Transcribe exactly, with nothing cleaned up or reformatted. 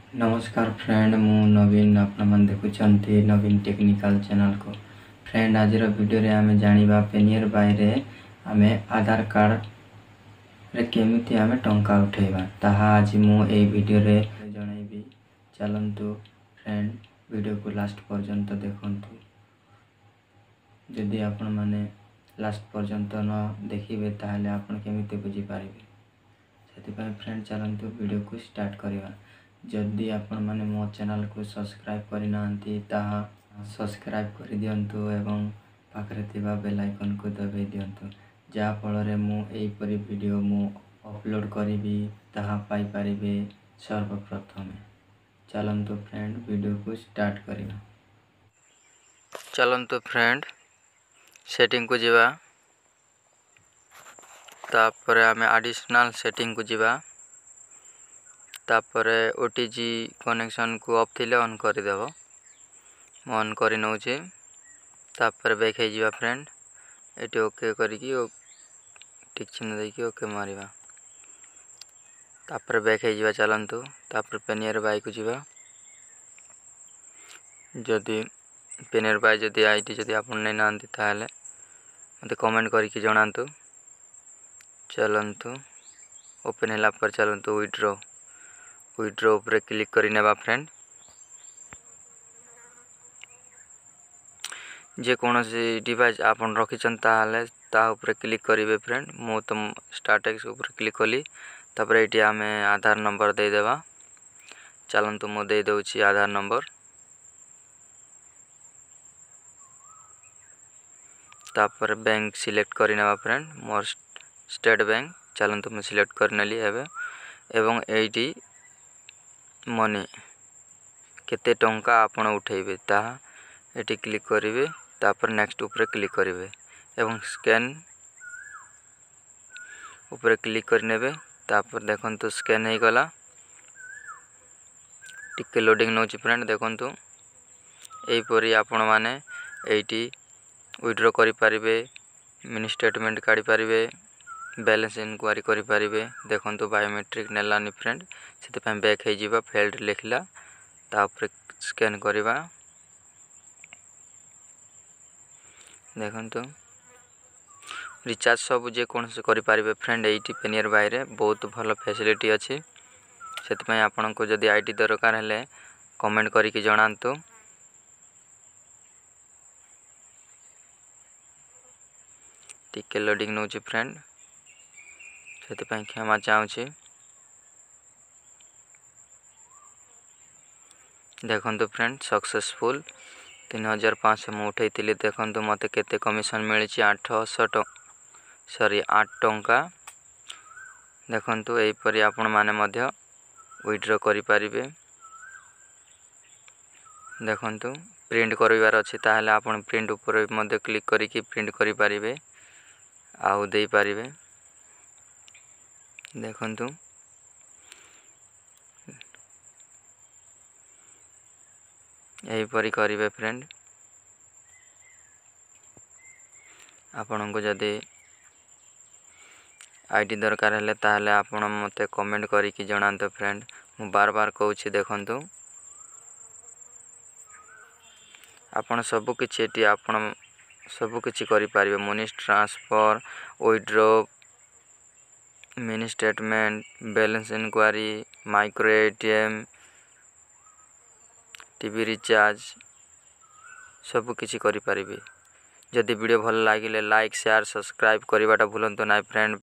ନମସ୍କାର ଫ୍ରେଣ୍ଡ, ମୁଁ ନବୀନ। ଆପଣମାନେ ଦେଖୁଛନ୍ତି ନବୀନ ଟେକ୍ନିକାଲ ଚ୍ୟାନେଲକୁ। ଫ୍ରେଣ୍ଡ, ଆଜିର ଭିଡ଼ିଓରେ ଆମେ ଜାଣିବା ପେନିୟର ବାଇରେ ଆମେ ଆଧାର କାର୍ଡ଼ରେ କେମିତି ଆମେ ଟଙ୍କା ଉଠାଇବା, ତାହା ଆଜି ମୁଁ ଏଇ ଭିଡ଼ିଓରେ ଜଣାଇବି। ଚାଲନ୍ତୁ ଫ୍ରେଣ୍ଡ, ଭିଡ଼ିଓକୁ ଲାଷ୍ଟ ପର୍ଯ୍ୟନ୍ତ ଦେଖନ୍ତୁ। ଯଦି ଆପଣମାନେ ଲାଷ୍ଟ ପର୍ଯ୍ୟନ୍ତ ନ ଦେଖିବେ, ତାହେଲେ ଆପଣ କେମିତି ବୁଝିପାରିବେ? ସେଥିପାଇଁ ଫ୍ରେଣ୍ଡ, ଚାଲନ୍ତୁ ଭିଡ଼ିଓକୁ ଷ୍ଟାର୍ଟ କରିବା। ଯଦି ଆପଣମାନେ ମୋ ଚ୍ୟାନେଲକୁ ସବସ୍କ୍ରାଇବ୍ କରିନାହାନ୍ତି, ତାହା ସବସ୍କ୍ରାଇବ୍ କରିଦିଅନ୍ତୁ ଏବଂ ପାଖରେ ଥିବା ବେଲ୍ ଆଇକନ୍କୁ ଦବାଇ ଦିଅନ୍ତୁ, ଯାହାଫଳରେ ମୁଁ ଏହିପରି ଭିଡ଼ିଓ ମୁଁ ଅପଲୋଡ଼ କରିବି, ତାହା ପାଇପାରିବେ ସର୍ବପ୍ରଥମେ। ଚାଲନ୍ତୁ ଫ୍ରେଣ୍ଡ, ଭିଡ଼ିଓକୁ ଷ୍ଟାର୍ଟ କରିବା। ଚାଲନ୍ତୁ ଫ୍ରେଣ୍ଡ, ସେଟିଂକୁ ଯିବା। ତାପରେ ଆମେ ଆଡ଼ିସନାଲ୍ ସେଟିଂକୁ ଯିବା। ତାପରେ ଓ ଟି ଜି କନେକ୍ସନ୍କୁ ଅଫ୍ ଥିଲେ ଅନ୍ କରିଦେବ। ମୁଁ ଅନ୍ କରି ନେଉଛି। ତାପରେ ବ୍ୟାକ୍ ହେଇଯିବା ଫ୍ରେଣ୍ଡ। ଏଠି ଓକେ କରିକି ଟିକ୍ ଚିହ୍ନ ଦେଇକି ଓକେ ମାରିବା। ତାପରେ ବ୍ୟାକ୍ ହେଇଯିବା। ଚାଲନ୍ତୁ, ତାପରେ ପେନିୟର ବାଇକୁ ଯିବା। ଯଦି ପେନିୟର ବାଇ ଯଦି I D ଯଦି ଆପଣ ନେଇନାହାନ୍ତି, ତାହେଲେ ମୋତେ କମେଣ୍ଟ କରିକି ଜଣାନ୍ତୁ। ଚାଲନ୍ତୁ, ଓପେନ୍ ହେଲା ପରେ ଚାଲନ୍ତୁ ୱିଡ୍ରୋ ୱିଡ୍ରୋ ଉପରେ କ୍ଲିକ୍ କରି ନେବା। ଫ୍ରେଣ୍ଡ, ଯେକୌଣସି ଡିଭାଇସ୍ ଆପଣ ରଖିଛନ୍ତି, ତାହେଲେ ତା ଉପରେ କ୍ଲିକ୍ କରିବେ। ଫ୍ରେଣ୍ଡ, ମୁଁ ତ ଷ୍ଟାର୍ଟେକ୍ସ ଉପରେ କ୍ଲିକ୍ କଲି। ତାପରେ ଏଇଠି ଆମେ ଆଧାର ନମ୍ବର ଦେଇଦେବା। ଚାଲନ୍ତୁ, ମୁଁ ଦେଇଦେଉଛି ଆଧାର ନମ୍ବର। ତାପରେ ବ୍ୟାଙ୍କ ସିଲେକ୍ଟ କରିନେବା। ଫ୍ରେଣ୍ଡ, ମୋର ଷ୍ଟେଟ୍ ବ୍ୟାଙ୍କ। ଚାଲନ୍ତୁ, ମୁଁ ସିଲେକ୍ଟ କରିନେଲି ଏବେ। ଏବଂ ଏଇଠି ମନି କେତେ ଟଙ୍କା ଆପଣ ଉଠାଇବେ, ତାହା ଏଠି କ୍ଲିକ୍ କରିବେ। ତାପରେ ନେକ୍ସଟ ଉପରେ କ୍ଲିକ୍ କରିବେ ଏବଂ ସ୍କାନ୍ ଉପରେ କ୍ଲିକ୍ କରିନେବେ। ତାପରେ ଦେଖନ୍ତୁ, ସ୍କାନ୍ ହେଇଗଲା। ଟିକେ ଲୋଡ଼ିଂ ନେଉଛି ଫ୍ରେଣ୍ଡ, ଦେଖନ୍ତୁ। ଏହିପରି ଆପଣମାନେ ଏଇଠି ୱିଡ୍ର କରିପାରିବେ, ମିନି ଷ୍ଟେଟମେଣ୍ଟ କାଢ଼ିପାରିବେ, ବାଲାନ୍ସ ଇନକ୍ୱାରି କରିପାରିବେ। ଦେଖନ୍ତୁ, ବାୟୋମେଟ୍ରିକ୍ ନେଲାନି ଫ୍ରେଣ୍ଡ, ସେଥିପାଇଁ ବ୍ୟାକ୍ ହେଇଯିବା। ଫେଲ୍ଡ ଲେଖିଲା, ତା ଉପରେ ସ୍କାନ୍ କରିବା। ଦେଖନ୍ତୁ, ରିଚାର୍ଜ ସବୁ ଯେକୌଣସି କରିପାରିବେ। ଫ୍ରେଣ୍ଡ, ଏଇଠି ପେନିୟର ବାଇରେ ବହୁତ ଭଲ ଫ୍ୟାସିଲିଟି ଅଛି। ସେଥିପାଇଁ ଆପଣଙ୍କୁ ଯଦି I D ଦରକାର ହେଲେ କମେଣ୍ଟ କରିକି ଜଣାନ୍ତୁ। ଟିକେ ଲୋଡ଼ିଂ ନେଉଛି ଫ୍ରେଣ୍ଡ, ସେଥିପାଇଁ କ୍ଷମା ଚାହୁଁଛି। ଦେଖନ୍ତୁ ଫ୍ରେଣ୍ଡ, ସକ୍ସେସଫୁଲ୍। ତିନି ହଜାର ପାଞ୍ଚଶହ ମୁଁ ଉଠାଇଥିଲି। ଦେଖନ୍ତୁ, ମୋତେ କେତେ କମିଶନ୍ ମିଳିଛି, ଆଠଶହ ସରି ଆଠ ଟଙ୍କା। ଦେଖନ୍ତୁ, ଏହିପରି ଆପଣମାନେ ମଧ୍ୟ ୱିଡ୍ର କରିପାରିବେ। ଦେଖନ୍ତୁ, ପ୍ରିଣ୍ଟ କରିବାର ଅଛି, ତାହେଲେ ଆପଣ ପ୍ରିଣ୍ଟ ଉପରେ ମଧ୍ୟ କ୍ଲିକ୍ କରିକି ପ୍ରିଣ୍ଟ କରିପାରିବେ ଆଉ ଦେଇପାରିବେ। ଦେଖନ୍ତୁ, ଏହିପରି କରିବେ। ଫ୍ରେଣ୍ଡ, ଆପଣଙ୍କୁ ଯଦି I D ଦରକାର ହେଲେ, ତାହେଲେ ଆପଣ ମୋତେ କମେଣ୍ଟ କରିକି ଜଣାନ୍ତୁ। ଫ୍ରେଣ୍ଡ, ମୁଁ ବାର ବାର କହୁଛି। ଦେଖନ୍ତୁ, ଆପଣ ସବୁକିଛି ଏଠି ଆପଣ ସବୁକିଛି କରିପାରିବେ: money transfer, withdraw, mini statement, balance enquiry, micro A T M, T V recharge, ସବୁକିଛି କରିପାରିବେ। ଯଦି ଭିଡ଼ିଓ ଭଲ ଲାଗିଲେ ଲାଇକ୍, ସେୟାର, ସବସ୍କ୍ରାଇବ୍ କରିବାଟା ଭୁଲନ୍ତୁ ନାହିଁ ଫ୍ରେଣ୍ଡ।